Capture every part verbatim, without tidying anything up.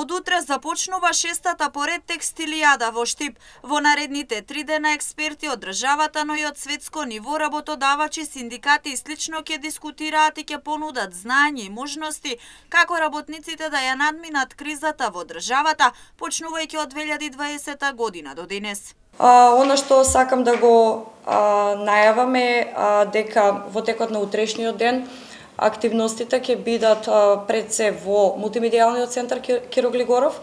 Од утре започнува шестата поред текстилијада во Штип. Во наредните три дена експерти од државата, но и од светско ниво, работодавачи, синдикати и слично ќе дискутираат и ќе понудат знаење и можности како работниците да ја надминат кризата во државата, почнувајќи од две илјади и дваесета година до денес. А, она што сакам да го а, најаваме а, дека во текот на утрешниот ден активностите ќе бидат а, пред се во мултимедијалниот центар Киро Глигоров.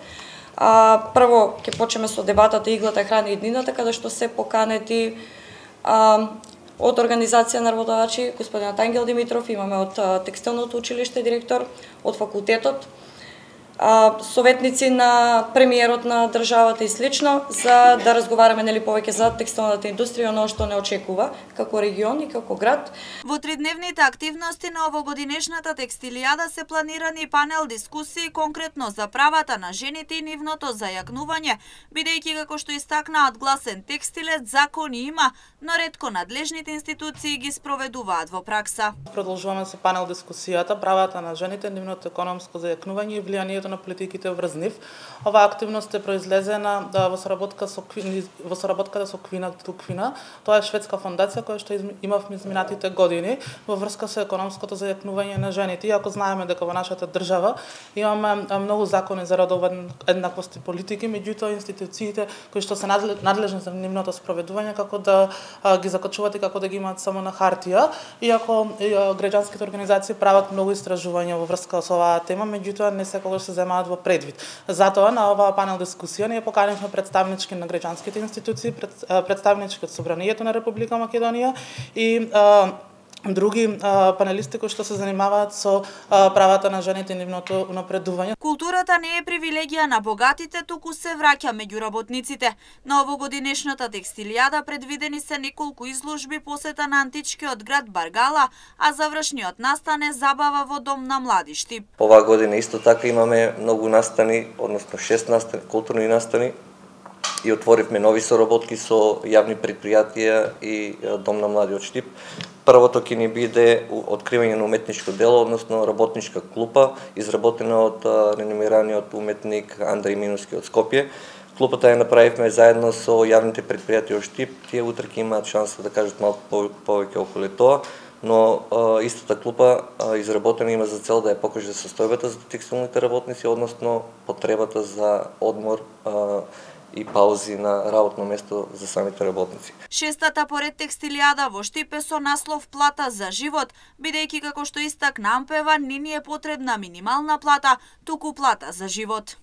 А, прво ќе почнеме со дебатата Иглата, храна и иднината, каде што се поканети а, од организација на работодавачи, господинот Ангел Димитров, имаме од а, текстилното училиште директор, од факултетот, а, советници на премиерот на државата и слично, за да разговараме нели повеќе за текстилната индустрија, оно што не очекува како регион и како град. Во тридневните активности на овогодинешната текстилијада се планирани панел дискусии конкретно за правата на жените и нивното зајакнување, бидејќи како што истакнаат гласен текстилец, закони има, но ретко надлежните институции ги спроведуваат во пракса. Продолжуваме со панел дискусијата правата на жените, нивното економско зајакнување и влијанието на политиките врз нив. Оваа активност е произлезена да, во соработка со Квина, во соработката со Квина Туквина. Тоа е шведска фондација која што имавме изминатите години во врска со економското зајакнување на жените. Иако знаеме дека во нашата држава имаме многу закони за родова еднаквост и политики, меѓутоа институциите кои што се надлежни за нивното спроведување како да а, ги закачуваат и како да ги имаат само на хартија. Иако и, а, граѓанските организации прават многу истражувања во врска со оваа тема, меѓутоа не секогаш се земаат во предвид. Затоа на оваа панел дискусија ние поканивме представнички на граѓанските институции, пред, представнички од Собранието на Република Македонија и а, други а, панелисти кои што се занимаваат со а, правата на жените и нивното унапредување. Културата не е привилегија на богатите, туку се враќа меѓу работниците. На овогодинешната текстилијада предвидени се неколку изложби, посета на античкиот град Баргала, а завршниот настан е забава во Дом на млади Штип. Оваа година исто така имаме многу настани, односно шест настани, културни настани, и отворивме нови соработки со јавни предпријатија и Дом на младиот Штип. Првото ќе ни биде откривање на уметничко дело, односно работничка клупа, изработена од реномираниот уметник Андреј Минуски од Скопје. Клупата ја направивме заедно со јавните предпријатија од Штип. Тие утре ќе имаат шанса да кажат малку повеќе околу тоа, но а, истата клупа а, изработена има за цел да ја покаже состојбата за текстилните работници, односно потребата за одмор а, и паузи на работно место за самите работници. Шестата поред текстилијада во Штип е со наслов Плата за живот, бидејќи како што истакна Ампева, не ни е потребна минимална плата, туку плата за живот.